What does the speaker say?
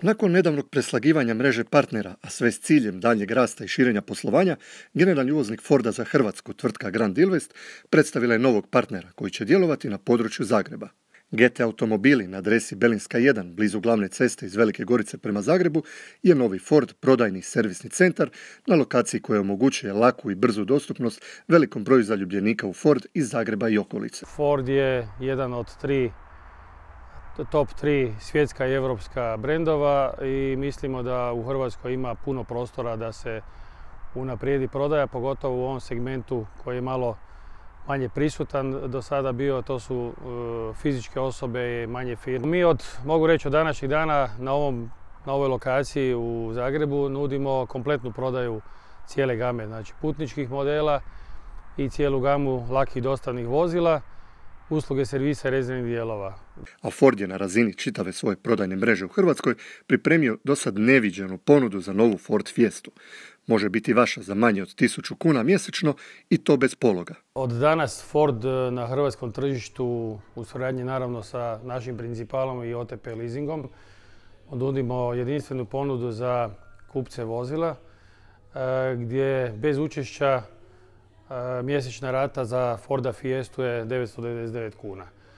Nakon nedavnog preslagivanja mreže partnera, a sve s ciljem daljnjeg rasta i širenja poslovanja, generalni uvoznik Forda za Hrvatsku, tvrtka Grand Invest, predstavila je novog partnera koji će djelovati na području Zagreba. GT Automobili na adresi Belinska 1, blizu glavne ceste iz Velike Gorice prema Zagrebu, je novi Ford prodajni servisni centar na lokaciji koja omogućuje laku i brzu dostupnost velikom broju zaljubljenika u Ford iz Zagreba i okolice. Ford je jedan od top 3 svjetska i europska brendova i mislimo da u Hrvatskoj ima puno prostora da se unaprijedi prodaja, pogotovo u ovom segmentu koji je malo manje prisutan do sada bio, to su fizičke osobe i manje firme. Mi mogu reći od današnjeg dana na ovoj lokaciji u Zagrebu nudimo kompletnu prodaju cijele game, znači putničkih modela i cijelu gamu lakih dostavnih vozila, usluge servisa i rezervnih dijelova. A Ford je na razini čitave svoje prodajne mreže u Hrvatskoj pripremio dosad neviđenu ponudu za novu Ford Fiestu. Može biti vaša za manje od 1000 kuna mjesečno i to bez pologa. Od danas Ford na hrvatskom tržištu u suradnji naravno sa našim principalom i OTP leasingom nudimo jedinstvenu ponudu za kupce vozila gdje bez učešća mjesečna rata za Forda Fiestu je 999 kuna.